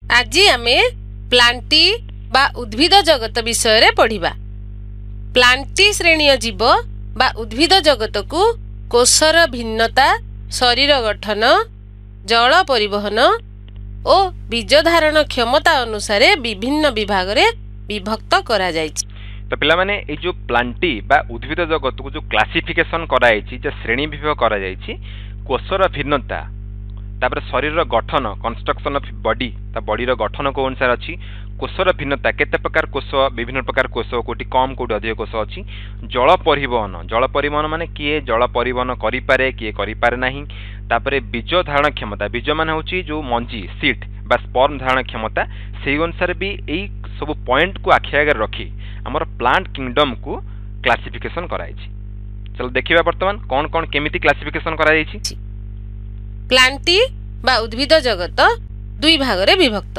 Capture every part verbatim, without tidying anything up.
ଆଜି ଆମେ ପ୍ଲାଣ୍ଟି ବା ଉଦ୍ଭିଦ ଜଗତ ବିଷୟରେ ପଢ଼ିବା। ପ୍ଲାଣ୍ଟି ଶ୍ରେଣୀୟ ଜୀବ ବା ଉଦ୍ଭିଦ ଜଗତକୁ କୋଷର ଭିନ୍ନତା, ଶରୀର ଗଠନ, ଜଳ ପରିବହନ ଓ ବୀଜ ଧାରଣ କ୍ଷମତା ଅନୁସାରେ ବିଭିନ୍ନ ବିଭାଗରେ ବିଭକ୍ତ କରାଯାଇଛି। ତ ପିଲାମାନେ, ଏଇ ଯେଉଁ ପ୍ଲାଣ୍ଟି ବା ଉଦ୍ଭିଦ ଜଗତକୁ ଯେଉଁ କ୍ଲାସିଫିକେସନ୍ କରାଯାଇଛି, ଯେ ଶ୍ରେଣୀ ବିଭାଗ କରାଯାଇଛି, କୋଷର ଭିନ୍ନତା, ତାପରେ ଶରୀରର ଗଠନ, କନଷ୍ଟ୍ରକ୍ସନ୍ ଅଫ୍ ବଡି, ତା ବଡିର ଗଠନ କେଉଁ ଅନୁସାରେ ଅଛି, କୋଷର ଭିନ୍ନତା, କେତେ ପ୍ରକାର କୋଷ, ବିଭିନ୍ନ ପ୍ରକାର କୋଷ, କେଉଁଠି କମ୍ କେଉଁଠି ଅଧିକ କୋଷ ଅଛି, ଜଳ ପରିବହନ, ଜଳ ପରିବହନ ମାନେ କିଏ ଜଳ ପରିବହନ କରିପାରେ, କିଏ କରିପାରେ ନାହିଁ, ତାପରେ ବୀଜ ଧାରଣ କ୍ଷମତା, ବୀଜ ମାନେ ହେଉଛି ଯେଉଁ ମଞ୍ଜି, ସିଡ୍ ବା ସ୍ପର୍ମ ଧାରଣ କ୍ଷମତା, ସେଇ ଅନୁସାରେ ବି ଏଇ ସବୁ ପଏଣ୍ଟକୁ ଆଖି ଆଗରେ ରଖି ଆମର ପ୍ଲାଣ୍ଟ କିଙ୍ଗଡମ୍କୁ କ୍ଲାସିଫିକେସନ୍ କରାଯାଇଛି। ଚାଲ ଦେଖିବା ବର୍ତ୍ତମାନ କ'ଣ କ'ଣ କେମିତି କ୍ଲାସିଫିକେସନ୍ କରାଯାଇଛି। ପ୍ଲାଣ୍ଟି ବା ଉଦ୍ଭିଦ ଜଗତ ଦୁଇ ଭାଗରେ ବିଭକ୍ତ।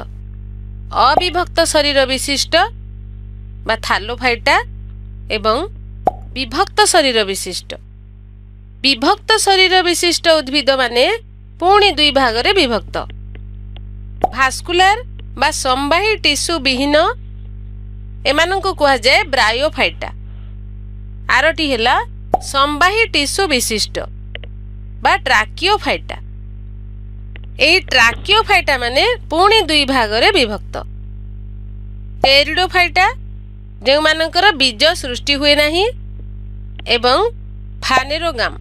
ଅବିଭକ୍ତ ଶରୀର ବିଶିଷ୍ଟ ବା ଥାଲୋଫାଇଟା ଏବଂ ବିଭକ୍ତ ଶରୀର ବିଶିଷ୍ଟ। ବିଭକ୍ତ ଶରୀର ବିଶିଷ୍ଟ ଉଦ୍ଭିଦମାନେ ପୁଣି ଦୁଇ ଭାଗରେ ବିଭକ୍ତ। ଭାସ୍କୁଲାର ବା ସମ୍ବାହୀ ଟିସୁ ବିହୀନ, ଏମାନଙ୍କୁ କୁହାଯାଏ ବ୍ରାୟୋଫାଇଟା। ଆରଟି ହେଲା ସମ୍ବାହୀ ଟିସୁ ବିଶିଷ୍ଟ ବା ଟ୍ରାକିଓଫାଇଟା। ଏଇ ଟ୍ରାକିଓଫାଇଟା ମାନେ ପୁଣି ଦୁଇ ଭାଗରେ ବିଭକ୍ତ। ଟେରିଡୋଫାଇଟା, ଯେଉଁମାନଙ୍କର ବୀଜ ସୃଷ୍ଟି ହୁଏ ନାହିଁ, ଏବଂ ଫାନେରୋଗାମ,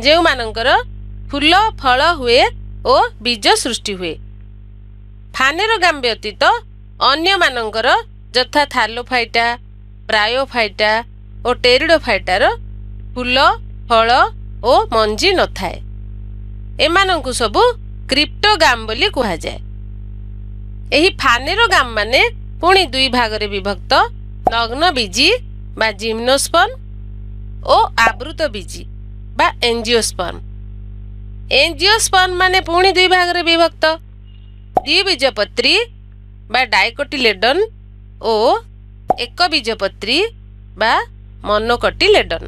ଯେଉଁମାନଙ୍କର ଫୁଲ ଫଳ ହୁଏ ଓ ବୀଜ ସୃଷ୍ଟି ହୁଏ। ଫାନେରୋଗାମ ବ୍ୟତୀତ ଅନ୍ୟମାନଙ୍କର ଯଥା ଥାଲୋଫାଇଟା, ବ୍ରାୟୋଫାଇଟା ଓ ଟେରିଡୋଫାଇଟାର ଫୁଲ, ଫଳ ଓ ମଞ୍ଜି ନଥାଏ। ଏମାନଙ୍କୁ ସବୁ କ୍ରିପ୍ଟୋଗାମ ବୋଲି କୁହାଯାଏ। ଏହି ଫାନେରୋଗାମ ମାନେ ପୁଣି ଦୁଇ ଭାଗରେ ବିଭକ୍ତ। ନଗ୍ନବୀଜୀ ବା ଜିମ୍ନୋସ୍ପର୍ମ ଓ ଆବୃତବୀଜୀ ବା ଏଞ୍ଜିଓସ୍ପର୍ମ। ଏଞ୍ଜିଓସ୍ପର୍ମ ମାନେ ପୁଣି ଦୁଇ ଭାଗରେ ବିଭକ୍ତ। ଦ୍ୱିବୀଜପତ୍ରୀ ବା ଡାଇକୋଟିଲେଡନ୍ ଓ ଏକବୀଜପତ୍ରୀ ବା ମନୋକଟିଲେଡନ୍।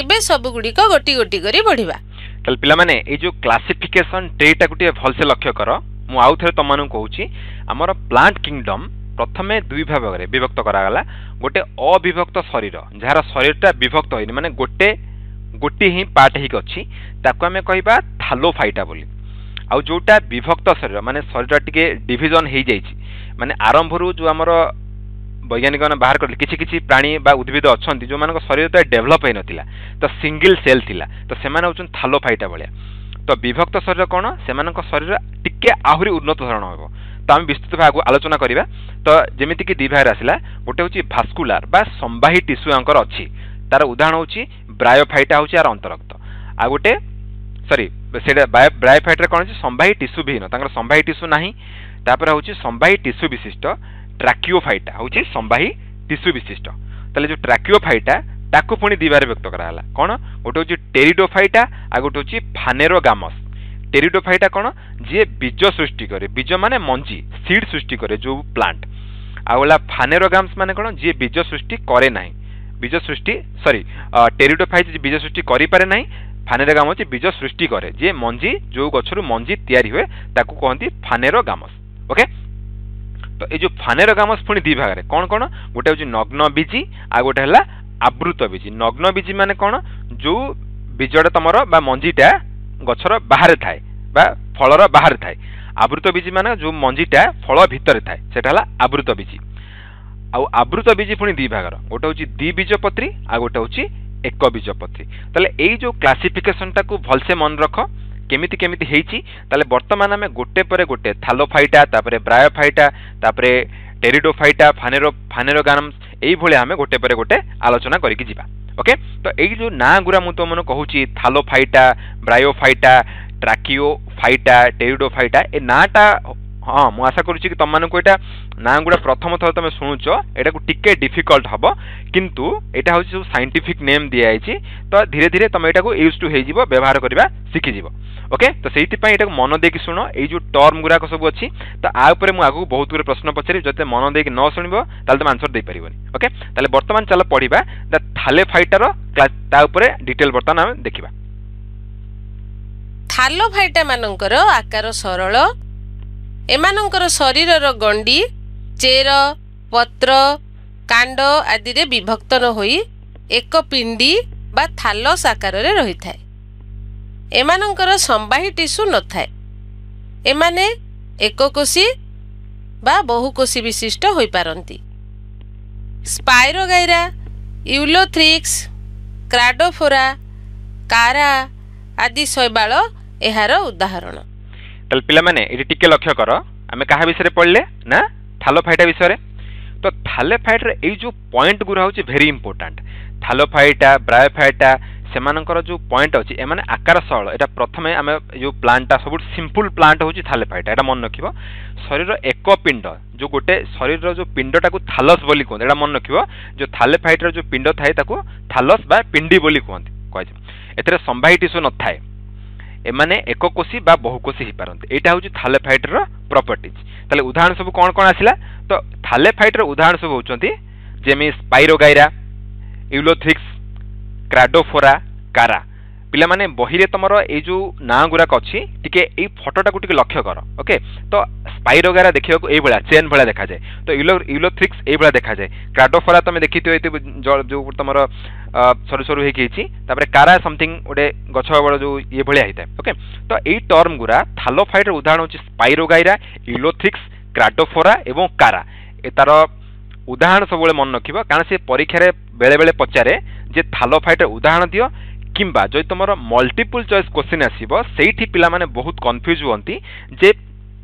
ଏବେ ସବୁଗୁଡ଼ିକ ଗୋଟି ଗୋଟି କରି ପଢ଼ିବା। ତାହେଲେ ପିଲାମାନେ, ଏଇ ଯେଉଁ କ୍ଲାସିଫିକେସନ୍ ଟ୍ରିଟାକୁ ଟିକେ ଭଲସେ ଲକ୍ଷ୍ୟ କର। ମୁଁ ଆଉ ଥରେ ତମମାନଙ୍କୁ କହୁଛି, ଆମର ପ୍ଲାଣ୍ଟ କିଙ୍ଗଡମ୍ ପ୍ରଥମେ ଦୁଇ ଭାଗରେ ବିଭକ୍ତ କରାଗଲା। ଗୋଟେ ଅବିଭକ୍ତ ଶରୀର, ଯାହାର ଶରୀରଟା ବିଭକ୍ତ ହେଇନି, ମାନେ ଗୋଟେ ଗୋଟିଏ ହିଁ ପାର୍ଟ ହେଇକି ଅଛି, ତାକୁ ଆମେ କହିବା ଥାଲୋଫାଇଟା ବୋଲି। ଆଉ ଯେଉଁଟା ବିଭକ୍ତ ଶରୀର, ମାନେ ଶରୀରଟା ଟିକେ ଡିଭିଜନ୍ ହେଇଯାଇଛି, ମାନେ ଆରମ୍ଭରୁ ଯେଉଁ ଆମର ବୈଜ୍ଞାନିକମାନେ ବାହାର କଲେ, କିଛି କିଛି ପ୍ରାଣୀ ବା ଉଦ୍ଭିଦ ଅଛନ୍ତି ଯେଉଁମାନଙ୍କ ଶରୀର ଡେଭଲପ୍ ହେଇନଥିଲା, ତ ସିଙ୍ଗିଲ୍ ସେଲ୍ ଥିଲା, ତ ସେମାନେ ହେଉଛନ୍ତି ଥାଲୋଫାଇଟା ଭଳିଆ। ତ ବିଭକ୍ତ ଶରୀର କ'ଣ? ସେମାନଙ୍କ ଶରୀର ଟିକେ ଆହୁରି ଉନ୍ନତ ଧରଣ ହେବ, ତ ଆମେ ବିସ୍ତୃତ ଭାବେ ଆଗକୁ ଆଲୋଚନା କରିବା। ତ ଯେମିତିକି ଦୁଇ ଭାଗରେ ଆସିଲା, ଗୋଟେ ହେଉଛି ଭାସ୍କୁଲାର ବା ସମ୍ବାହୀ ଟିସୁ ୟାଙ୍କର ଅଛି, ତାର ଉଦାହରଣ ହେଉଛି ବ୍ରାୟୋଫାଇଟା ହେଉଛି ଆର ଅନ୍ତର୍ଗତ। ଆଉ ଗୋଟେ ସରି, ସେଇଟା ବ୍ରାୟୋଫାଇଟାରେ କ'ଣ ଅଛି? ସମ୍ବାହୀ ଟିସୁ ବିହୀନ, ତାଙ୍କର ସମ୍ବାହୀ ଟିସୁ ନାହିଁ। ତାପରେ ହେଉଛି ସମ୍ବାହୀ ଟିସୁ ବିଶିଷ୍ଟ ଟ୍ରାକିଓଫାଇଟା ହେଉଛି ସମ୍ବାହୀ ଟିସୁ ବିଶିଷ୍ଟ। ତାହେଲେ ଯେଉଁ ଟ୍ରାକିଓଫାଇଟା, ତାକୁ ପୁଣି ଦୁଇ ଭାଗରେ ବ୍ୟକ୍ତ କରାଗଲା। କ'ଣ? ଗୋଟେ ହେଉଛି ଟେରିଡୋଫାଇଟା, ଆଉ ଗୋଟେ ହେଉଛି ଫାନେରୋଗାମସ୍। ଟେରିଡୋଫାଇଟା କ'ଣ? ଯିଏ ବୀଜ ସୃଷ୍ଟି କରେ, ବୀଜ ମାନେ ମଞ୍ଜି, ସିଡ୍ ସୃଷ୍ଟି କରେ ଯେଉଁ ପ୍ଲାଣ୍ଟ। ଆଉ ହେଲା ଫାନେରୋଗାମ୍ସ ମାନେ କ'ଣ? ଯିଏ ବୀଜ ସୃଷ୍ଟି କରେ ନାହିଁ, ବୀଜ ସୃଷ୍ଟି ସରି ଟେରିଡୋଫାଇଟ୍ ବୀଜ ସୃଷ୍ଟି କରିପାରେ ନାହିଁ, ଫାନେରୋଗାମ ହେଉଛି ବୀଜ ସୃଷ୍ଟି କରେ, ଯିଏ ମଞ୍ଜି, ଯେଉଁ ଗଛରୁ ମଞ୍ଜି ତିଆରି ହୁଏ ତାକୁ କହନ୍ତି ଫାନେରୋଗାମସ୍। ଓକେ, ତ ଏଇ ଯେଉଁ ଫାନେରୋଗାମସ୍ ପୁଣି ଦୁଇ ଭାଗରେ, କ'ଣ କ'ଣ? ଗୋଟେ ହେଉଛି ନଗ୍ନ ବୀଜି, ଆଉ ଗୋଟେ ହେଲା ଆବୃତ ବୀଜି। ନଗ୍ନ ବୀଜି ମାନେ କ'ଣ? ଯେଉଁ ବୀଜଟା ତମର ବା ମଞ୍ଜିଟା ଗଛର ବାହାରେ ଥାଏ ବା ଫଳର ବାହାରେ ଥାଏ। ଆବୃତ ବୀଜି ମାନେ ଯେଉଁ ମଞ୍ଜିଟା ଫଳ ଭିତରେ ଥାଏ, ସେଟା ହେଲା ଆବୃତ ବୀଜି। ଆଉ ଆବୃତ ବୀଜି ପୁଣି ଦୁଇ ଭାଗର, ଗୋଟେ ହେଉଛି ଦ୍ୱିବୀଜପତ୍ରୀ ଆଉ ଗୋଟେ ହେଉଛି ଏକ ବୀଜପତ୍ରୀ। ତାହେଲେ ଏଇ ଯେଉଁ କ୍ଲାସିଫିକେସନଟାକୁ ଭଲସେ ମନେ ରଖ କେମିତି କେମିତି ହେଇଛି। ତାହେଲେ ବର୍ତ୍ତମାନ ଆମେ ଗୋଟେ ପରେ ଗୋଟେ ଥାଲୋଫାଇଟା, ତାପରେ ବ୍ରାୟୋଫାଇଟା, ତାପରେ ଟେରିଡୋଫାଇଟା, ଫାନେରୋ ଫାନେରୋଗାନମ୍ସ, ଏଇଭଳିଆ ଆମେ ଗୋଟେ ପରେ ଗୋଟେ ଆଲୋଚନା କରିକି ଯିବା। ଓକେ, ତ ଏଇ ଯେଉଁ ନାଁ ଗୁଡ଼ା ମୁଁ ତୁମମାନଙ୍କୁ କହୁଛି, ଥାଲୋଫାଇଟା, ବ୍ରାୟୋଫାଇଟା, ଟ୍ରାକିଓଫାଇଟା, ଟେରିଡୋଫାଇଟା, ଏ ନାଁଟା, ହଁ ମୁଁ ଆଶା କରୁଛି କି ତୁମମାନଙ୍କୁ ଏଇଟା ନାଁ ଗୁଡ଼ା ପ୍ରଥମ ଥର ତୁମେ ଶୁଣୁଛ, ଏଇଟାକୁ ଟିକେ ଡିଫିକଲ୍ଟ ହେବ, କିନ୍ତୁ ଏଇଟା ହେଉଛି ସବୁ ସାଇଣ୍ଟିଫିକ୍ ନେମ୍ ଦିଆଯାଇଛି, ତ ଧୀରେ ଧୀରେ ତୁମେ ଏଇଟାକୁ ୟୁଜ୍ ଟୁ ହେଇଯିବ, ବ୍ୟବହାର କରିବା ଶିଖିଯିବ। ଓକେ, ତ ସେଇଥିପାଇଁ ଏଇଟାକୁ ମନ ଦେଇକି ଶୁଣ। ଏଇ ଯେଉଁ ଟର୍ମ ଗୁଡ଼ାକ ସବୁ ଅଛି, ତ ଆ ଉପରେ ମୁଁ ଆଗକୁ ବହୁତ ଗୁଡ଼ିଏ ପ୍ରଶ୍ନ ପଚାରିବି, ଯଦି ମନ ଦେଇକି ନ ଶୁଣିବ ତାହେଲେ ତୁମେ ଆନ୍ସର ଦେଇପାରିବନି। ଓକେ, ତାହେଲେ ବର୍ତ୍ତମାନ ଚାଲ ପଢ଼ିବା ଦ ଥାଲେଫାଇଟାର, ତା ଉପରେ ଡିଟେଲ୍ ବର୍ତ୍ତମାନ ଆମେ ଦେଖିବା। ଥାଲୋଫାଇଟା ମାନଙ୍କର ଆକାର ସରଳ ଏମାନଙ୍କର ଶରୀରର ଗଣ୍ଡି ଚେର, ପତ୍ର, କାଣ୍ଡ ଆଦିରେ ବିଭକ୍ତ ନ ହୋଇ ଏକ ପିଣ୍ଡି ବା ଥାଲସ୍ ଆକାରରେ ରହିଥାଏ। ଏମାନଙ୍କର ସମ୍ବାହୀ ଟିସୁ ନଥାଏ। ଏମାନେ ଏକକୋଷୀ ବା ବହୁକୋଷୀ ବିଶିଷ୍ଟ ହୋଇପାରନ୍ତି। ସ୍ପାଇରୋଗାଇରା, ୟୁଲୋଥ୍ରିକ୍ସ, କ୍ରାଡୋଫୋରା, କାରା ଆଦି ଶୈବାଳ ଏହାର ଉଦାହରଣ। ତାହେଲେ ପିଲାମାନେ, ଏଠି ଟିକେ ଲକ୍ଷ୍ୟ କର, ଆମେ କାହା ବିଷୟରେ ପଢ଼ିଲେ ନା ଥାଲୋଫାଇଟା ବିଷୟରେ। ତ ଥାଲୋଫାଇଟ୍ର ଏଇ ଯେଉଁ ପଏଣ୍ଟ ଗୁଡ଼ା ହେଉଛି ଭେରି ଇମ୍ପୋର୍ଟାଣ୍ଟ। ଥାଲୋଫାଇଟା, ବ୍ରାୟୋଫାଇଟା, ସେମାନଙ୍କର ଯେଉଁ ପଏଣ୍ଟ ଅଛି, ଏମାନେ ଆକାର ସରଳ। ଏଇଟା ପ୍ରଥମେ ଆମେ ଯେଉଁ ପ୍ଲାଣ୍ଟଟା ସବୁଠୁ ସିମ୍ପଲ୍ ପ୍ଲାଣ୍ଟ ହେଉଛି ଥାଲୋଫାଇଟା, ଏଇଟା ମନେ ରଖିବ। ଶରୀର ଏକ ପିଣ୍ଡ, ଯେଉଁ ଗୋଟେ ଶରୀରର ଯେଉଁ ପିଣ୍ଡଟାକୁ ଥାଲସ୍ ବୋଲି କୁହନ୍ତି, ଏଇଟା ମନେ ରଖିବ। ଯେଉଁ ଥାଲୋଫାଇଟ୍ର ଯେଉଁ ପିଣ୍ଡ ଥାଏ ତାକୁ ଥାଲସ୍ ବା ପିଣ୍ଡି ବୋଲି କୁହନ୍ତି କୁହାଯାଏ। ଏଥିରେ ସମ୍ବାହୀ ଟିସୁ ନଥାଏ। ଏମାନେ ଏକକୋଷୀ ବା ବହୁକୋଷୀ ହେଇପାରନ୍ତି। ଏଇଟା ହେଉଛି ଥାଲୋଫାଇଟ୍ର ପ୍ରପର୍ଟିଜ୍। ତାହେଲେ ଉଦାହରଣ ସବୁ କ'ଣ କ'ଣ ଆସିଲା? ତ ଥାଲୋଫାଇଟ୍ର ଉଦାହରଣ ସବୁ ହେଉଛନ୍ତି ଯେମିତି ସ୍ପାଇରୋଗାଇରା, ୟୁଲୋଥ୍ରିକ୍ସ, କ୍ରାଡୋଫୋରା, କାରା। ପିଲାମାନେ, ବହିରେ ତମର ଏଇ ଯେଉଁ ନାଁ ଗୁଡ଼ାକ ଅଛି, ଟିକେ ଏଇ ଫଟୋଟାକୁ ଟିକେ ଲକ୍ଷ୍ୟ କର। ଓକେ, ତ ସ୍ପାଇରୋଗାଇରା ଦେଖିବାକୁ ଏଇଭଳିଆ ଚେନ୍ ଭଳିଆ ଦେଖାଯାଏ, ତ ୟୁଲୋ ୟୁଲୋଥ୍ରିକ୍ସ ଏଇଭଳିଆ ଦେଖାଯାଏ, କ୍ରାଡୋଫୋରା ତମେ ଦେଖିଥିବ ଏଇ ଯେଉଁ ତମର ସରୁ ସରୁ ହେଇକି ହେଇଛି, ତାପରେ କାରା ସମଥିଙ୍ଗ ଗୋଟେ ଗଛ ବଡ଼ ଯେଉଁ ଇଏ ଭଳିଆ ହେଇଥାଏ। ଓକେ, ତ ଏଇ ଟର୍ମ ଗୁଡ଼ା ଥାଲୋଫାଇଟ୍ର ଉଦାହରଣ ହେଉଛି ସ୍ପାଇରୋଗାଇରା, ୟୁଲୋଥ୍ରିକ୍ସ, କ୍ରାଡୋଫୋରା ଏବଂ କାରା। ଏ ତାର ଉଦାହରଣ ସବୁବେଳେ ମନେ ରଖିବ, କାରଣ ସେ ପରୀକ୍ଷାରେ ବେଳେବେଳେ ପଚାରେ ଯେ ଥାଲୋଫାଇଟ୍ର ଉଦାହରଣ ଦିଅ, କିମ୍ବା ଯଦି ତୁମର ମଲ୍ଟିପୁଲ୍ ଚଏସ୍ କୋଶ୍ଚିନ୍ ଆସିବ, ସେଇଠି ପିଲାମାନେ ବହୁତ କନଫ୍ୟୁଜ୍ ହୁଅନ୍ତି ଯେ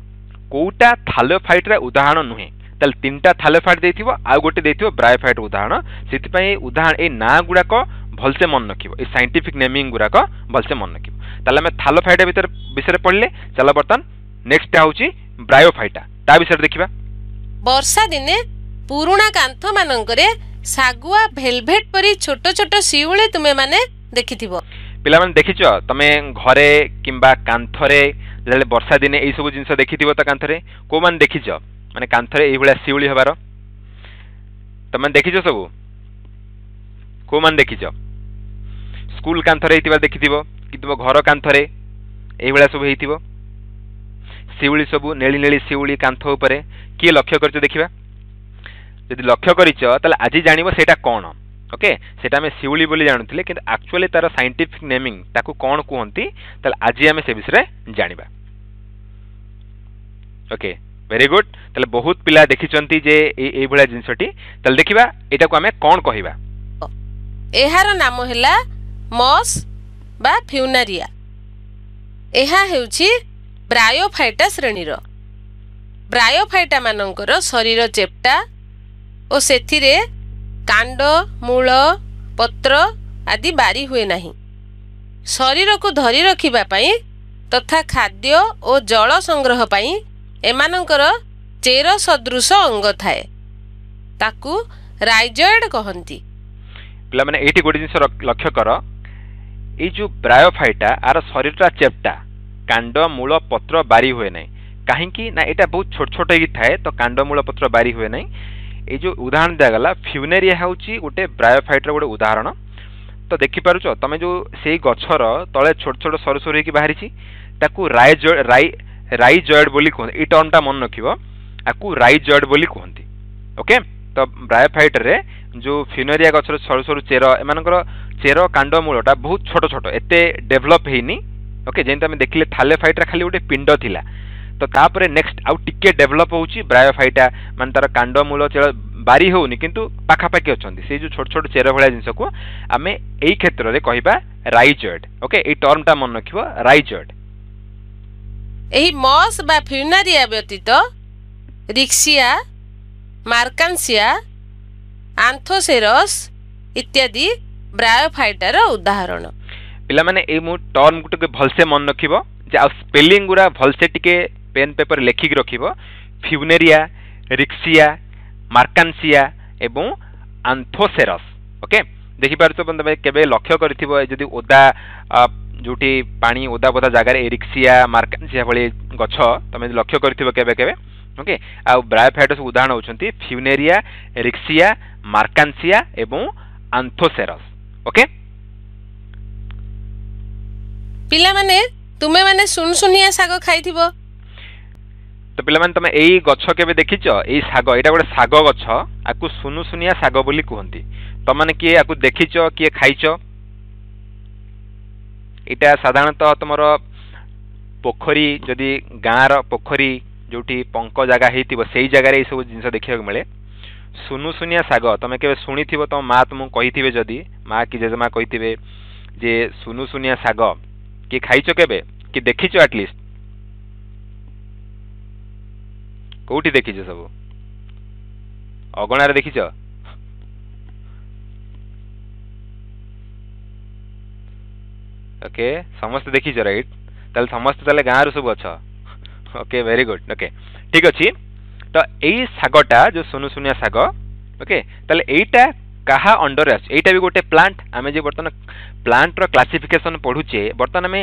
କୋଉଟା ଥାଲୋଫାଇଟ୍ର ଉଦାହରଣ ନୁହେଁ। ତାହେଲେ ତିନିଟା ଥାଲୋଫାଇଟ୍ ଦେଇଥିବ, ଆଉ ଗୋଟେ ଦେଇଥିବ ବ୍ରାୟୋଫାଇଟ୍ ଉଦାହରଣ। ସେଥିପାଇଁ ଉଦାହରଣ ଏଇ ନାଁ ଗୁଡ଼ାକ ଭଲସେ ମନେ ରଖିବ, ଏଇ ସାଇଣ୍ଟିଫିକ୍ ନେମିଂ ଗୁଡ଼ାକ ଭଲସେ ମନେ ରଖିବ। ତାହେଲେ ଆମେ ଥାଲୋଫାଇଟ୍ ଭିତରେ ବିଷୟରେ ପଢ଼ିଲେ। ଚାଲ, ବର୍ତ୍ତମାନ ନେକ୍ସଟଟା ହେଉଛି ବ୍ରାୟୋଫାଇଟା, ତା ବିଷୟରେ ଦେଖିବା। ବର୍ଷା ଦିନେ ପୁରୁଣା କାନ୍ଥମାନଙ୍କରେ ଶାଗୁଆ ଭେଲଭେଟ୍ ପରି ଛୋଟ ଛୋଟ ଶିଉଳି ତୁମେମାନେ ଦେଖିଥିବ। ପିଲାମାନେ, ଦେଖିଛ ତମେ ଘରେ କିମ୍ବା କାନ୍ଥରେ ଯେତେବେଳେ ବର୍ଷା ଦିନେ ଏଇସବୁ ଜିନିଷ ଦେଖିଥିବ? ତ କାନ୍ଥରେ କୋଉମାନେ ଦେଖିଛ, ମାନେ କାନ୍ଥରେ ଏଇଭଳିଆ ଶିଉଳି ହେବାର ତମେ ଦେଖିଛ ସବୁ? କୋଉମାନେ ଦେଖିଛ? ସ୍କୁଲ କାନ୍ଥରେ ହେଇଥିବା ଦେଖିଥିବ କି ତୁମ ଘର କାନ୍ଥରେ ଏଇଭଳିଆ ସବୁ ହେଇଥିବ ଶିଉଳି ସବୁ, ନେଳି ନେଳି ଶିଉଳି କାନ୍ଥ ଉପରେ କିଏ ଲକ୍ଷ୍ୟ କରିଛ ଦେଖିବା। ଯଦି ଲକ୍ଷ୍ୟ କରିଛ ତାହେଲେ ଆଜି ଜାଣିବ ସେଇଟା କ'ଣ। ଓକେ, ସେଇଟା ଆମେ ଶିଉଳି ବୋଲି ଜାଣୁଥିଲେ, କିନ୍ତୁ ଆକ୍ଚୁଆଲି ତାର ସାଇଣ୍ଟିଫିକ୍ ନେମିଂ ତାକୁ କ'ଣ କୁହନ୍ତି, ତାହେଲେ ଆଜି ଆମେ ସେ ବିଷୟରେ ଜାଣିବା। Okay, very good. ତାହେଲେ ବହୁତ ପିଲା ଦେଖିଛନ୍ତି ଯେ ଏଇ ଏଇଭଳିଆ ଜିନିଷଟି। ତାହେଲେ ଦେଖିବା ଏଇଟାକୁ ଆମେ କ'ଣ କହିବା। ଏହାର ନାମ ହେଲା ମସ୍ ବା ଫ୍ୟୁନାରିଆ। ଏହା ହେଉଛି ବ୍ରାୟୋଫାଇଟା ଶ୍ରେଣୀର। ବ୍ରାୟୋଫାଇଟା ମାନଙ୍କର ଶରୀର ଚେପ୍ଟା ଓ ସେଥିରେ କାଣ୍ଡ, ମୂଳ, ପତ୍ର ଆଦି ବାରି ହୁଏ ନାହିଁ। ଶରୀରକୁ ଧରି ରଖିବା ପାଇଁ ତଥା ଖାଦ୍ୟ ଓ ଜଳ ସଂଗ୍ରହ ପାଇଁ ଏମାନଙ୍କର ଚେର ସଦୃଶ ଅଙ୍ଗ ଥାଏ, ତାକୁ ରାଇଜଏଡ୍ କହନ୍ତି। ପିଲାମାନେ, ଏଇଠି ଗୋଟେ ଜିନିଷ ଲକ୍ଷ୍ୟ କର। ଏଇ ଯେଉଁ ବ୍ରାୟୋଫାଇଟା, ଆର ଶରୀରଟା ଚେପ୍ଟା, କାଣ୍ଡ, ମୂଳ, ପତ୍ର ବାରି ହୁଏ ନାହିଁ। କାହିଁକି ନା ଏଇଟା ବହୁତ ଛୋଟ ଛୋଟ ହେଇକି ଥାଏ, ତ କାଣ୍ଡ, ମୂଳ, ପତ୍ର ବାରି ହୁଏ ନାହିଁ। ଏଇ ଯେଉଁ ଉଦାହରଣ ଦିଆଗଲା, ଫ୍ୟୁନେରିଆ ହେଉଛି ଗୋଟେ ବ୍ରାୟୋଫାଇଟ୍ର ଗୋଟେ ଉଦାହରଣ। ତ ଦେଖିପାରୁଛ ତମେ ଯେଉଁ ସେଇ ଗଛର ତଳେ ଛୋଟ ଛୋଟ ସରୁ ସରୁ ହେଇକି ବାହାରିଛି, ତାକୁ ରାଇଜଏଡ୍ ରାଇ ରାଇଜଏଡ୍ ବୋଲି କୁହନ୍ତି। ଏଇ ଟର୍ମଟା ମନେ ରଖିବ, ଆକୁ ରାଇଜଏଡ୍ ବୋଲି କୁହନ୍ତି। ଓକେ, ତ ବ୍ରାୟୋଫାଇଟ୍ରେ ଯେଉଁ ଫ୍ୟୁନେରିଆ ଗଛର ସରୁ ସରୁ ଚେର, ଏମାନଙ୍କର ଚେର, କାଣ୍ଡ, ମୂଳଟା ବହୁତ ଛୋଟ ଛୋଟ, ଏତେ ଡେଭଲପ୍ ହେଇନି। ଓକେ, ଯେମିତି ଆମେ ଦେଖିଲେ ଥାଲେଫାଇଟ୍ରେ ଖାଲି ଗୋଟେ ପିଣ୍ଡ ଥିଲା, ତ ତାପରେ ନେକ୍ସଟ ଆଉ ଟିକେ ଡେଭଲପ୍ ହେଉଛି ବ୍ରାୟୋଫାଇଟା, ମାନେ ତାର କାଣ୍ଡ, ମୂଳ, ଚେର ବାରି ହେଉନି କିନ୍ତୁ ପାଖାପାଖି ଅଛନ୍ତି। ସେଇ ଯେଉଁ ଛୋଟ ଛୋଟ ଚେର ଭଳିଆ ଜିନିଷକୁ ଆମେ ଏଇ କ୍ଷେତ୍ରରେ କହିବା ରାଇଜଏଡ୍। ଓକେ, ଏଇ ଟର୍ମଟା ମନେ ରଖିବ, ରାଇଜଏଡ୍। ଏହି ମସ୍ ବା ଫ୍ୟୁନାରିଆ ବ୍ୟତୀତ ରିକ୍ସିଆ, ମାର୍କାନ୍ସିଆ, ଆନ୍ଥୋସେରସ୍ ଇତ୍ୟାଦି ବ୍ରାୟୋଫାଇଟାର ଉଦାହରଣ। ପିଲାମାନେ, ଏଇ ମୁଁ ଟର୍ମକୁ ଟିକେ ଭଲସେ ମନେ ରଖିବ ଯେ ଆଉ ସ୍ପେଲିଂ ଗୁଡ଼ା ଭଲସେ ଟିକେ ପେନ୍ ପେପର ଲେଖିକି ରଖିବ। ଫ୍ୟୁନେରିଆ, ରିକ୍ସିଆ, ମାର୍କାନ୍ସିଆ ଏବଂ ଆନ୍ଥୋସେରସ୍। ଓକେ, ଦେଖିପାରୁଛ ତମେ କେବେ ଲକ୍ଷ୍ୟ କରିଥିବ, ଯଦି ଓଦା ଯେଉଁଠି ପାଣି ଓଦା ବୋଦା ଜାଗାରେ ଏରିକ୍ସିଆ, ମାର୍କାନ୍ସିଆ ଭଳି ଗଛ ତମେ ଲକ୍ଷ୍ୟ କରିଥିବ କେବେ କେବେ। ଓକେ, ଆଉ ବ୍ରାୟୋଫାଇଟ୍ ସବୁ ଉଦାହରଣ ହେଉଛନ୍ତି ଫ୍ୟୁନେରିଆ, ରିକ୍ସିଆ, ମାର୍କାନ୍ସିଆ ଏବଂ ଆନ୍ଥୋସେରସ୍। ଓକେ ପିଲାମାନେ, ତୁମେମାନେ ସୁନସୁନିଆ ଶାଗ ଖାଇଥିବ। ତ ପିଲାମାନେ ତମେ ଏଇ ଗଛ କେବେ ଦେଖିଛ? ଏଇ ଶାଗ, ଏଇଟା ଗୋଟେ ଶାଗ ଗଛ, ଆକୁ ସୁନୁସୁନିଆ ଶାଗ ବୋଲି କୁହନ୍ତି। ତମମାନେ କିଏ ଆକୁ ଦେଖିଛ, କିଏ ଖାଇଛ? ଏଇଟା ସାଧାରଣତଃ ତମର ପୋଖରୀ, ଯଦି ଗାଁର ପୋଖରୀ ଯୋଉଠି ପଙ୍କ ଜାଗା ହେଇଥିବ ସେଇ ଜାଗାରେ ଏଇସବୁ ଜିନିଷ ଦେଖିବାକୁ ମିଳେ। ସୁନୁସୁନିଆ ଶାଗ ତମେ କେବେ ଶୁଣିଥିବ, ତମ ମା ତୁମକୁ କହିଥିବେ, ଯଦି ମା କି ଜେଜେମା କହିଥିବେ ଯେ ସୁନୁସୁନିଆ ଶାଗ କିଏ ଖାଇଛ କେବେ, କି ଦେଖିଛ ଆଟଲିଷ୍ଟ? କୋଉଠି ଦେଖିଛ ସବୁ? ଅଗଣାରେ ଦେଖିଛ? ଓକେ, ସମସ୍ତେ ଦେଖିଛ, ରାଇଟ୍? ତାହେଲେ ସମସ୍ତେ ତାହେଲେ ଗାଁରୁ ସବୁ ଅଛ। Okay, very good. ଓକେ, ଠିକ ଅଛି। ତ ଏଇ ଶାଗଟା ଯୋଉ ସୁନୁସୁନିଆ ଶାଗ, ଓକେ, ତାହେଲେ ଏଇଟା କାହା ଅଣ୍ଡରରେ ଆସୁଛି? ଏଇଟା ବି ଗୋଟେ ପ୍ଲାଣ୍ଟ। ଆମେ ଯେ ବର୍ତ୍ତମାନ ପ୍ଲାଣ୍ଟର କ୍ଲାସିଫିକେସନ ପଢୁଛେ, ବର୍ତ୍ତମାନ ଆମେ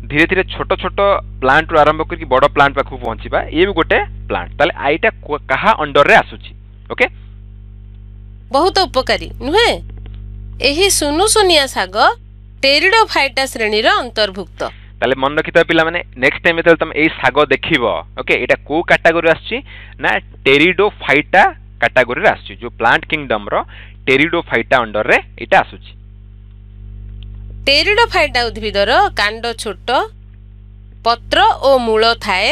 ଧୀରେ ଧୀରେ ଛୋଟ ଛୋଟ ପ୍ଲାଣ୍ଟରୁ ଆରମ୍ଭ କରିକି ବଡ଼ ପ୍ଲାଣ୍ଟ ପାଖକୁ ପହଞ୍ଚିବା। ଇଏ ବି ଗୋଟେ ପ୍ଲାଣ୍ଟ। ତାହେଲେ ଏଇଟା କାହା ଅଣ୍ଡରରେ ଆସୁଛି? ଓକେ, ବହୁତ ଉପକାରୀ ନୁହେଁ? ଏହି ସୁନୁସୁନିଆ ଶାଗ ଟେରିଡୋଫାଇଟା ଶ୍ରେଣୀର ଅନ୍ତର୍ଭୁକ୍ତ। ତାହେଲେ ମନେ ରଖିଥାଅ ପିଲାମାନେ, ନେକ୍ସଟ ଟାଇମ୍ ଯେତେବେଳେ ତମେ ଏଇ ଶାଗ ଦେଖିବ, ଓକେ, ଏଇଟା କୋଉ କାଟାଗୋରୀ ଆସୁଛି ନା ଟେରିଡୋଫାଇଟା କାଟାଗୋରୀରେ ଆସୁଛି, ଯୋଉ ପ୍ଲାଣ୍ଟ କିଙ୍ଗଡମର ଟେରିଡୋଫାଇଟା ଅଣ୍ଡରରେ ଏଇଟା ଆସୁଛି। ଟେରିଡୋଫାଇଟା ଉଦ୍ଭିଦର କାଣ୍ଡ ଛୋଟ, ପତ୍ର ଓ ମୂଳ ଥାଏ।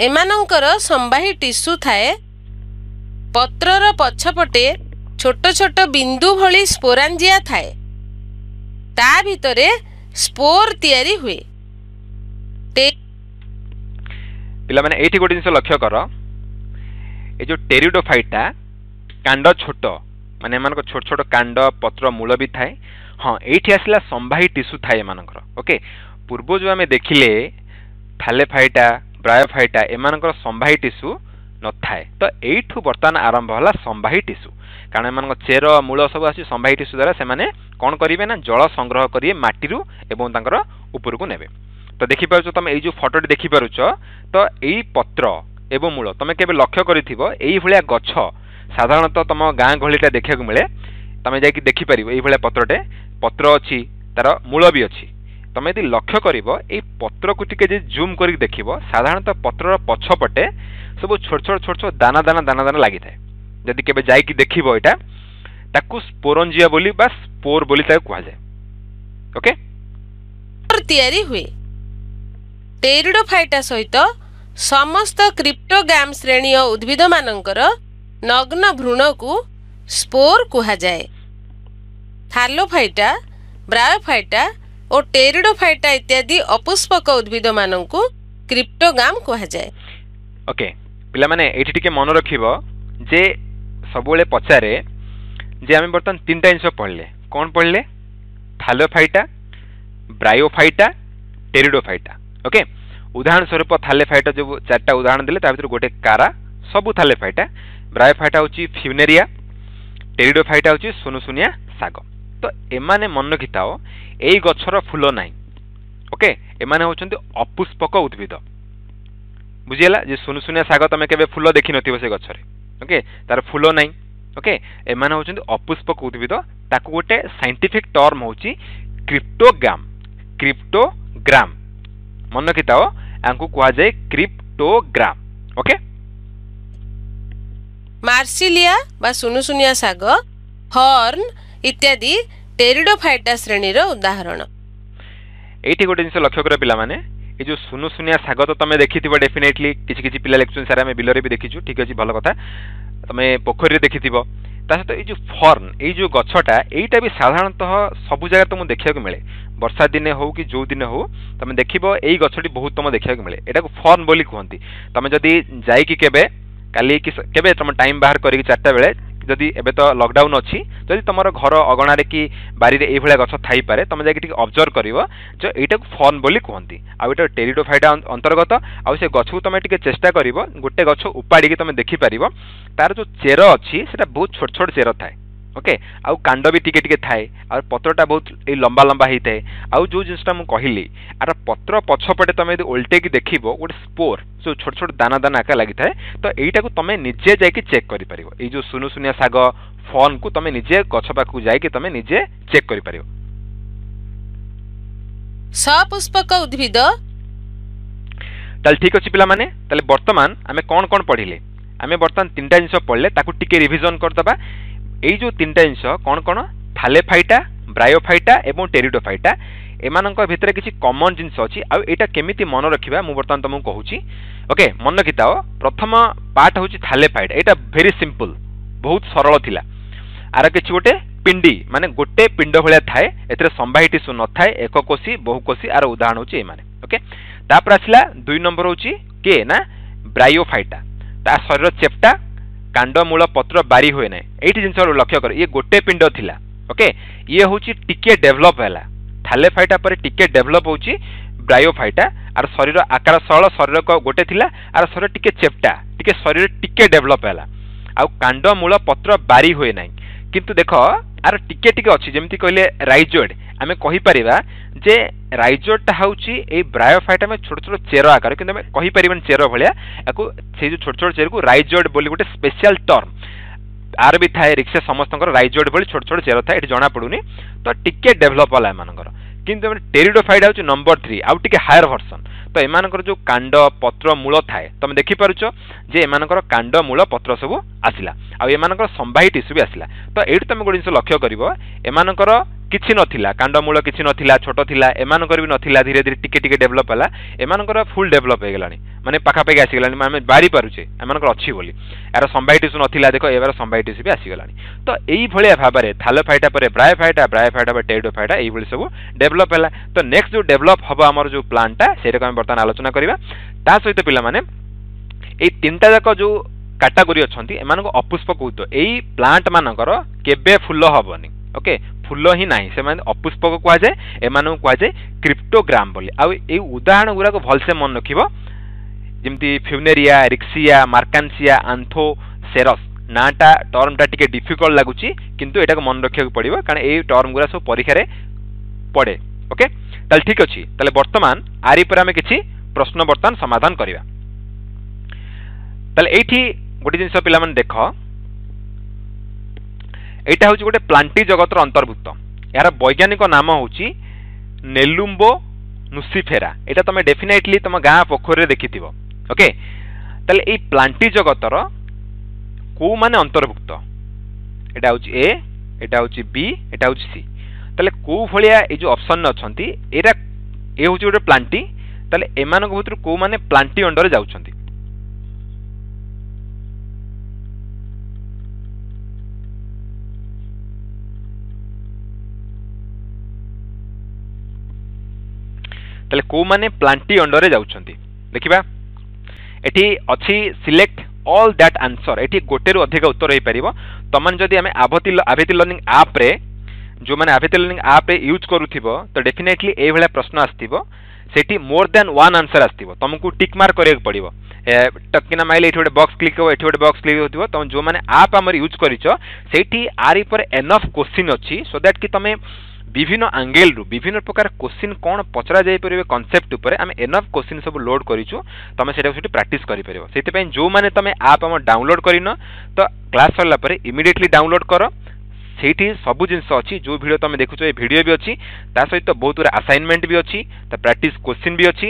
ଏମାନଙ୍କର ସମ୍ବାହୀ ଟିସୁ ଥାଏ। ପତ୍ରର ପଛପଟେ ଛୋଟ ଛୋଟ ବିନ୍ଦୁ ଭଳି ସ୍ପୋରାଞ୍ଜିଆ ଥାଏ, ତା ଭିତରେ ସ୍ପୋର ତିଆରି ହୁଏ। ପିଲାମାନେ ଏଇଠି ଗୋଟେ ଜିନିଷ ଲକ୍ଷ୍ୟ କର, ଏ ଯୋଉ ଟେରିଡୋଫାଇଟା କାଣ୍ଡ ଛୋଟ, ମାନେ ଏମାନଙ୍କ ଛୋଟ ଛୋଟ କାଣ୍ଡ, ପତ୍ର, ମୂଳ ବି ଥାଏ। ହଁ, ଏଇଠି ଆସିଲା ସମ୍ବାହୀ ଟିସୁ ଥାଏ ଏମାନଙ୍କର। ଓକେ, ପୂର୍ବ ଯୋଉ ଆମେ ଦେଖିଲେ ଥାଲେଫାଇଟା, ବ୍ରାୟୋଫାଇଟା, ଏମାନଙ୍କର ସମ୍ବାହୀ ଟିସୁ ନଥାଏ। ତ ଏଇଠୁ ବର୍ତ୍ତମାନ ଆରମ୍ଭ ହେଲା ସମ୍ବାହୀ ଟିସୁ, କାରଣ ଏମାନଙ୍କ ଚେର ମୂଳ ସବୁ ଆସୁଛି ସମ୍ବାହୀ ଟିସୁ ଦ୍ୱାରା। ସେମାନେ କ'ଣ କରିବେ ନା ଜଳ ସଂଗ୍ରହ କରିବେ ମାଟିରୁ ଏବଂ ତାଙ୍କର ଉପରକୁ ନେବେ। ତ ଦେଖିପାରୁଛ ତମେ ଏଇ ଯୋଉ ଫଟୋଟି ଦେଖିପାରୁଛ, ତ ଏଇ ପତ୍ର ଏବଂ ମୂଳ ତମେ କେବେ ଲକ୍ଷ୍ୟ କରିଥିବ, ଏଇଭଳିଆ ଗଛ ସାଧାରଣତଃ ତମ ଗାଁ ଗହଳିଟା ଦେଖିବାକୁ ମିଳେ। ତମେ ଯାଇକି ଦେଖିପାରିବ ଏଇଭଳିଆ ପତ୍ରଟେ, ପତ୍ର ଅଛି, ତାର ମୂଳ ବି ଅଛି। ତମେ ଯଦି ଲକ୍ଷ୍ୟ କରିବ ଏଇ ପତ୍ରକୁ ଟିକେ ଯଦି ଜୁମ୍ କରିକି ଦେଖିବ, ସାଧାରଣତଃ ପତ୍ରର ପଛପଟେ ସବୁ ଛୋଟ ଛୋଟ ଛୋଟ ଛୋଟ ଦାନା ଦାନା ଦାନା ଦାନା ଲାଗିଥାଏ। ଯଦି କେବେ ଯାଇକି ଦେଖିବ ଏଇଟା, ତାକୁ ସ୍ପୋରଞ୍ଜିଆ ବୋଲି ବା ସ୍ପୋର ବୋଲି ତାକୁ କୁହାଯାଏ। ଓକେ, ତିଆରି ହୁଏ। ଟେରିଡୋଫାଇଟା ସହିତ ସମସ୍ତ କ୍ରିପ୍ଟୋଗାମ ଶ୍ରେଣୀୟ ଉଦ୍ଭିଦମାନଙ୍କର ନଗ୍ନ ଭ୍ରୂଣକୁ ସ୍ପୋର କୁହାଯାଏ। ଥାଲୋଫାଇଟା, ବ୍ରାୟୋଫାଇଟା ଓ ଟେରିଡୋଫାଇଟା ଇତ୍ୟାଦି ଅପୁଷ୍ପକ ଉଦ୍ଭିଦମାନଙ୍କୁ କ୍ରିପ୍ଟୋଗାମ କୁହାଯାଏ। ଓକେ ପିଲାମାନେ, ଏଇଠି ଟିକେ ମନେ ରଖିବ ଯେ ସବୁବେଳେ ପଚାରେ ଯେ ଆମେ ବର୍ତ୍ତମାନ ତିନିଟା ଜିନିଷ ପଢ଼ିଲେ। କ'ଣ ପଢ଼ିଲେ? ଥାଲୋଫାଇଟା, ବ୍ରାୟୋଫାଇଟା, ଟେରିଡୋଫାଇଟା। ଓକେ, ଉଦାହରଣ ସ୍ୱରୂପ ଥାଲେଫାଇଟା ଯୋଉ ଚାରିଟା ଉଦାହରଣ ଦେଲେ ତା ଭିତରୁ ଗୋଟେ କାରା, ସବୁ ଥାଲେଫାଇଟା। ବ୍ରାୟୋଫାଇଟା ହେଉଛି ଫ୍ୟୁନେରିଆ, ଟେରିଡୋଫାଇଟା ହେଉଛି ସୁନୁସୁନିଆ ଶାଗ। ତ ଏମାନେ ମନେ ରଖିଥାଅ, ଏଇ ଗଛର ଫୁଲ ନାହିଁ। ଓକେ, ଏମାନେ ହେଉଛନ୍ତି ଅପୁଷ୍ପକ ଉଦ୍ଭିଦ। ବୁଝିହେଲା ଯେ ସୁନୁସୁନିଆ ଶାଗ ତମେ କେବେ ଫୁଲ ଦେଖିନଥିବ ସେ ଗଛରେ। ଓକେ, ତାର ଫୁଲ ନାହିଁ। ଓକେ, ଏମାନେ ହେଉଛନ୍ତି ଅପୁଷ୍ପକ ଉଦ୍ଭିଦ। ତାକୁ ଗୋଟେ ସାଇଣ୍ଟିଫିକ୍ ଟର୍ମ ହେଉଛି କ୍ରିପ୍ଟୋଗ୍ରାମ। କ୍ରିପ୍ଟୋଗ୍ରାମ ମନେ ରଖିଥାଅ, ୟାଙ୍କୁ କୁହାଯାଏ କ୍ରିପ୍ଟୋଗ୍ରାମ। ଓକେ, ମାର୍ସିଲିଆ ବା ସୁନୁସୁନିଆ ଶାଗ, ହର୍ନ ଇତ୍ୟାଦି ଟେରିଡୋଫାଇଟା ଶ୍ରେଣୀର ଉଦାହରଣ। ଏଇଠି ଗୋଟେ ଜିନିଷ ଲକ୍ଷ୍ୟ କର ପିଲାମାନେ, ଏ ଯୋଉ ସୁନୁସୁନିଆ ଶାଗ ତ ତମେ ଦେଖିଥିବ ଡେଫିନେଟଲି। କିଛି କିଛି ପିଲା ଲେଖୁଛନ୍ତି ସାର୍ ଆମେ ବିଲରେ ବି ଦେଖିଛୁ। ଠିକ ଅଛି, ଭଲ କଥା, ତମେ ପୋଖରୀରେ ଦେଖିଥିବ। ତା ସହିତ ଏଇ ଯୋଉ ଫର୍ନ, ଏଇ ଯୋଉ ଗଛଟା, ଏଇଟା ବି ସାଧାରଣତଃ ସବୁ ଜାଗାରେ ତମକୁ ଦେଖିବାକୁ ମିଳେ। ବର୍ଷା ଦିନେ ହଉ କି ଯୋଉ ଦିନେ ହଉ, ତମେ ଦେଖିବ ଏଇ ଗଛଟି ବହୁତ ତମ ଦେଖିବାକୁ ମିଳେ। ଏଟାକୁ ଫର୍ନ ବୋଲି କୁହନ୍ତି। ତମେ ଯଦି ଯାଇକି କେବେ କାଲି କି କେବେ ତମ ଟାଇମ୍ ବାହାର କରିକି ଚାରିଟା ବେଳେ, ଯଦି ଏବେ ତ ଲକଡାଉନ୍ ଅଛି, ଯଦି ତମର ଘର ଅଗଣାରେ କି ବାରିରେ ଏଇଭଳିଆ ଗଛ ଥାଇପାରେ, ତମେ ଯାଇକି ଟିକେ ଅବଜର୍ଭ କରିବ ଯେ ଏଇଟାକୁ ଫର୍ନ ବୋଲି କୁହନ୍ତି। ଆଉ ଏଇଟା ଟେରିଡୋଫାଇଟା ଅନ୍ତର୍ଗତ। ଆଉ ସେ ଗଛକୁ ତମେ ଟିକେ ଚେଷ୍ଟା କରିବ ଗୋଟେ ଗଛ ଉପାଡ଼ିକି ତମେ ଦେଖିପାରିବ, ତାର ଯୋଉ ଚେର ଅଛି ସେଟା ବହୁତ ଛୋଟ ଛୋଟ ଚେର ଥାଏ। ଓକେ, ଆଉ କାଣ୍ଡ ବି ଟିକେ ଟିକେ ଥାଏ, ଆଉ ପତ୍ରଟା ବହୁତ ଏଇ ଲମ୍ବା ଲମ୍ବା ହେଇଥାଏ। ଆଉ ଯୋଉ ଜିନିଷଟା ମୁଁ କହିଲି, ଆର ପତ୍ର ପଛପଟେ ତମେ ଯଦି ଓଲଟେଇକି ଦେଖିବ ଗୋଟେ ସ୍ପୋର, ଯୋଉ ଛୋଟ ଛୋଟ ଦାନା ଦାନା ଆକା ଲାଗିଥାଏ। ତ ଏଇଟାକୁ ତମେ ନିଜେ ଯାଇକି ଚେକ୍ କରିପାରିବ। ଏଇ ଯୋଉ ସୁନୁସୁନିଆ ଶାଗ ଫର୍ନକୁ ତମେ ନିଜେ ଗଛ ପାଖକୁ ଯାଇକି ତମେ ନିଜେ ଚେକ୍ କରିପାରିବ। ସପୁଷ୍ପକ ଉଦ୍ଭିଦ। ତାହେଲେ ଠିକ୍ ଅଛି ପିଲାମାନେ, ତାହେଲେ ବର୍ତ୍ତମାନ ଆମେ କ'ଣ କ'ଣ ପଢ଼ିଲେ? ଆମେ ବର୍ତ୍ତମାନ ତିନିଟା ଜିନିଷ ପଢ଼ିଲେ, ତାକୁ ଟିକେ ରିଭିଜନ୍ କରିଦେବା। ଏଇ ଯେଉଁ ତିନିଟା ଜିନିଷ କ'ଣ କ'ଣ? ଥାଲେଫାଇଟା, ବ୍ରାୟୋଫାଇଟା ଏବଂ ଟେରିଡୋଫାଇଟା, ଏମାନଙ୍କ ଭିତରେ କିଛି କମନ୍ ଜିନିଷ ଅଛି। ଆଉ ଏଇଟା କେମିତି ମନେ ରଖିବା ମୁଁ ବର୍ତ୍ତମାନ ତୁମକୁ କହୁଛି। ଓକେ, ମନେ ରଖିଥାଅ। ପ୍ରଥମ ପାର୍ଟ ହେଉଛି ଥାଲେଫାଇଟ୍। ଏଇଟା ଭେରି ସିମ୍ପଲ୍, ବହୁତ ସରଳ ଥିଲା। ଆର କିଛି ଗୋଟେ ପିଣ୍ଡି, ମାନେ ଗୋଟେ ପିଣ୍ଡ ଭଳିଆ ଥାଏ, ଏଥିରେ ସମ୍ବାହୀ ଟିସୁ ନଥାଏ, ଏକକୋଷୀ, ବହୁକୋଷୀ। ଆର ଉଦାହରଣ ହେଉଛି ଏମାନେ। ଓକେ, ତାପରେ ଆସିଲା ଦୁଇ ନମ୍ବର ହେଉଛି କିଏ ନା ବ୍ରାୟୋଫାଇଟା। ତା ଶରୀର ଚେପ୍ଟା, କାଣ୍ଡ ମୂଳ ପତ୍ର ବାରି ହୁଏ ନାହିଁ। ଏଇଠି ଜିନିଷ ଲକ୍ଷ୍ୟ କର, ଇଏ ଗୋଟେ ପିଣ୍ଡ ଥିଲା। ଓକେ, ଇଏ ହେଉଛି ଟିକେ ଡେଭଲପ୍ ହେଲା, ଥାଲେଫାଇଟା ପରେ ଟିକେ ଡେଭଲପ୍ ହେଉଛି ବ୍ରାୟୋଫାଇଟା। ଆର ଶରୀର ଆକାର ସରଳ, ଶରୀର ଗୋଟେ ଥିଲା, ଆର ଶରୀର ଟିକେ ଚେପ୍ଟା, ଟିକେ ଶରୀର ଟିକେ ଡେଭଲପ୍ ହେଲା, ଆଉ କାଣ୍ଡ ମୂଳ ପତ୍ର ବାରି ହୁଏ ନାହିଁ। କିନ୍ତୁ ଦେଖ, ଆର ଟିକେ ଟିକେ ଅଛି, ଯେମିତି କହିଲେ ରାଇଜୋଏଡ୍। ଆମେ କହିପାରିବା ଯେ ରାଇଜୋଏଡ୍ଟା ହେଉଛି ଏଇ ବ୍ରାୟୋଫାଇଟ୍, ଆମେ ଛୋଟ ଛୋଟ ଚେର ଆକାର, କିନ୍ତୁ ଆମେ କହିପାରିବାନି ଚେର ଭଳିଆ ଆକୁ। ସେଇ ଯେଉଁ ଛୋଟ ଛୋଟ ଚେରକୁ ରାଇଜୋଏଡ୍ ବୋଲି ଗୋଟେ ସ୍ପେଶିଆଲ ଟର୍ମ ଆର ବି ଥାଏ। ରିକ୍ସା ସମସ୍ତଙ୍କର ରାଇଜୋଏଡ୍ ଭଳି ଛୋଟ ଛୋଟ ଚେର ଥାଏ, ଏଠି ଜଣାପଡ଼ୁନି। ତ ଟିକେ ଡେଭଲପ୍ ହେଲା ଏମାନଙ୍କର। କିନ୍ତୁ ଆମେ ଟେରିଡୋଫାଇଟ୍ ହେଉଛି ନମ୍ବର ଥ୍ରୀ, ଆଉ ଟିକେ ହାୟର ଭର୍ସନ୍। ତ ଏମାନଙ୍କର ଯେଉଁ କାଣ୍ଡ ପତ୍ର ମୂଳ ଥାଏ, ତମେ ଦେଖିପାରୁଛ ଯେ ଏମାନଙ୍କର କାଣ୍ଡ ମୂଳ ପତ୍ର ସବୁ ଆସିଲା, ଆଉ ଏମାନଙ୍କର ସମ୍ବାହୀ ଟିସୁ ବି ଆସିଲା। ତ ଏଇଠି ତମେ ଗୋଟେ ଜିନିଷ ଲକ୍ଷ୍ୟ କରିବ, ଏମାନଙ୍କର କିଛି ନଥିଲା, କାଣ୍ଡ ମୂଳ କିଛି ନଥିଲା, ଛୋଟ ଥିଲା। ଏମାନଙ୍କର ବି ନଥିଲା, ଧୀରେ ଧୀରେ ଟିକେ ଟିକେ ଡେଭଲପ୍ ହେଲା। ଏମାନଙ୍କର ଫୁଲ୍ ଡେଭଲପ୍ ହେଇଗଲାଣି, ମାନେ ପାଖାପାଖି ଆସିଗଲାଣି, ଆମେ ବାରି ପାରୁଛେ ଏମାନଙ୍କର ଅଛି ବୋଲି। ଏହାର ସମ୍ବାହୀ ଟିସୁ ନଥିଲା, ଦେଖ ଏହାର ସମ୍ବାହୀ ଟିସୁ ବି ଆସିଗଲାଣି। ତ ଏଇଭଳିଆ ଭାବରେ ଥାଲୋଫାଇଟା ପରେ ବ୍ରାୟୋଫାଇଟା, ବ୍ରାୟୋଫାଇଟା ପରେ ଟେରିଡୋଫାଇଟା, ଏଇଭଳି ସବୁ ଡେଭଲପ୍ ହେଲା। ତ ନେକ୍ସଟ ଯେଉଁ ଡେଭଲପ୍ ହେବ ଆମର ଯେଉଁ ପ୍ଲାନ୍ଟା, ସେଇଟାକୁ ଆମେ ବର୍ତ୍ତମାନ ଆଲୋଚନା କରିବା। ତା ସହିତ ପିଲାମାନେ, ଏଇ ତିନିଟା ଯାକ ଯେଉଁ କାଟାଗୋରୀ ଅଛନ୍ତି, ଏମାନଙ୍କୁ ଅପୁଷ୍ପକ ଉଦ୍ଭିଦ। ଏଇ ପ୍ଲାଣ୍ଟ ମାନଙ୍କର କେବେ ଫୁଲ ହବନି। ଓକେ, ଫୁଲ ହିଁ ନାହିଁ, ସେମାନେ ଅପୁଷ୍ପକ କୁହାଯାଏ। ଏମାନଙ୍କୁ କୁହାଯାଏ କ୍ରିପ୍ଟୋଗ୍ରାମ ବୋଲି। ଆଉ ଏଇ ଉଦାହରଣ ଗୁଡ଼ାକ ଭଲସେ ମନେ ରଖିବ, ଯେମିତି ଫ୍ୟୁନେରିଆ, ରିକ୍ସିଆ, ମାର୍କାନ୍ସିଆ, ଆନ୍ଥୋସେରସ୍। ନାଁଟା, ଟର୍ମଟା ଟିକେ ଡିଫିକଲ୍ଟ ଲାଗୁଛି, କିନ୍ତୁ ଏଟାକୁ ମନେ ରଖିବାକୁ ପଡ଼ିବ, କାରଣ ଏଇ ଟର୍ମ ଗୁଡ଼ା ସବୁ ପରୀକ୍ଷାରେ ପଡ଼େ। ଓକେ, ତାହେଲେ ଠିକ୍ ଅଛି। ତାହେଲେ ବର୍ତ୍ତମାନ ଆରି ଉପରେ ଆମେ କିଛି ପ୍ରଶ୍ନ ବର୍ତ୍ତମାନ ସମାଧାନ କରିବା। ତାହେଲେ ଏଇଠି ଗୋଟେ ଜିନିଷ ପିଲାମାନେ ଦେଖ, ଏଇଟା ହେଉଛି ଗୋଟେ ପ୍ଲାଣ୍ଟି ଜଗତର ଅନ୍ତର୍ଭୁକ୍ତ। ଏହାର ବୈଜ୍ଞାନିକ ନାମ ହେଉଛି ନେଲୁମ୍ବୋ ନୁସିଫେରା। ଏଇଟା ତମେ ଡେଫିନେଟଲି ତମ ଗାଁ ପୋଖରୀରେ ଦେଖିଥିବ। ଓକେ, ତାହେଲେ ଏଇ ପ୍ଲାଣ୍ଟି ଜଗତର କେଉଁମାନେ ଅନ୍ତର୍ଭୁକ୍ତ? ଏଇଟା ହେଉଛି ଏ, ଏଇଟା ହେଉଛି ବି, ଏଇଟା ହେଉଛି ସି। ତାହେଲେ କେଉଁ ଭଳିଆ ଏଇ ଯେଉଁ ଅପସନ୍ରେ ଅଛନ୍ତି, ଏଇଟା ଏ ହେଉଛି ଗୋଟେ ପ୍ଲାଣ୍ଟି। ତାହେଲେ ଏମାନଙ୍କ ଭିତରୁ କେଉଁମାନେ ପ୍ଲାଣ୍ଟି ଅଣ୍ଡରରେ ଯାଉଛନ୍ତି? ତାହେଲେ କେଉଁମାନେ ପ୍ଲାଣ୍ଟି ଅଣ୍ଡରରେ ଯାଉଛନ୍ତି ଦେଖିବା। ଏଠି ଅଛି ସିଲେକ୍ଟ ଅଲ୍ that answer, ଏଠି ଗୋଟେରୁ ଅଧିକ ଉତ୍ତର ହେଇପାରିବ। ତମାନେ ଯଦି ଆମେ ଆଭତି ଆଭେତି ଲର୍ଣ୍ଣିଂ ଆପ୍ରେ, ଯେଉଁମାନେ ଆଭେତି ଲର୍ଣ୍ଣିଂ ଆପ୍ରେ ୟୁଜ୍ କରୁଥିବ, ତ ଡେଫିନେଟଲି ଏଇଭଳିଆ ପ୍ରଶ୍ନ ଆସିଥିବ। ସେଠି ମୋର୍ ଦ୍ୟାନ୍ ୱାନ୍ ଆନ୍ସର୍ ଆସିଥିବ, ତମକୁ ଟିକ୍ ମାର୍କ କରିବାକୁ ପଡ଼ିବ। ଟକିନା ମାଇଲେ ଏଠି ଗୋଟେ ବକ୍ସ କ୍ଲିକ୍ ହେବ, ଏଠି ଗୋଟେ ବକ୍ସ କ୍ଲିକ୍ ହେଉଥିବ। ତମେ ଯେଉଁମାନେ ଆପ୍ ଆମର ୟୁଜ୍ କରିଛ, ସେଇଠି ଆରି ଉପରେ ଏନଫ୍ କୋଶ୍ଚିନ୍ ଅଛି, ସୋ that କି ତମେ ବିଭିନ୍ନ ଆଙ୍ଗେଲରୁ ବିଭିନ୍ନ ପ୍ରକାର କୋଶ୍ଚିନ୍ କ'ଣ ପଚରା ଯାଇପାରିବ କନସେପ୍ଟ ଉପରେ ଆମେ ଏନଫ୍ କୋଶ୍ଚିନ୍ ସବୁ ଲୋଡ୍ କରିଛୁ। ତମେ ସେଇଟାକୁ ସେଠି ପ୍ରାକ୍ଟିସ୍ କରିପାରିବ। ସେଥିପାଇଁ ଯେଉଁମାନେ ତମେ ଆପ୍ ଆମ ଡାଉନଲୋଡ୍ କରିନ, ତ କ୍ଲାସ୍ ସରିଲା ପରେ ଇମିଡ଼ିଏଟଲି ଡାଉନଲୋଡ୍ କର। ସେଇଠି ସବୁ ଜିନିଷ ଅଛି। ଯେଉଁ ଭିଡ଼ିଓ ତମେ ଦେଖୁଛ, ଏ ଭିଡ଼ିଓ ବି ଅଛି, ତା ସହିତ ବହୁତ ଗୁଡ଼ା ଆସାଇନମେଣ୍ଟ ବି ଅଛି, ତା ପ୍ରାକ୍ଟିସ୍ କୋଶ୍ଚିନ୍ ବି ଅଛି,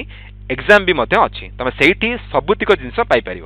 ଏକ୍ଜାମ୍ ବି ମଧ୍ୟ ଅଛି। ତମେ ସେଇଠି ସବୁତିକ ଜିନିଷ ପାଇପାରିବ।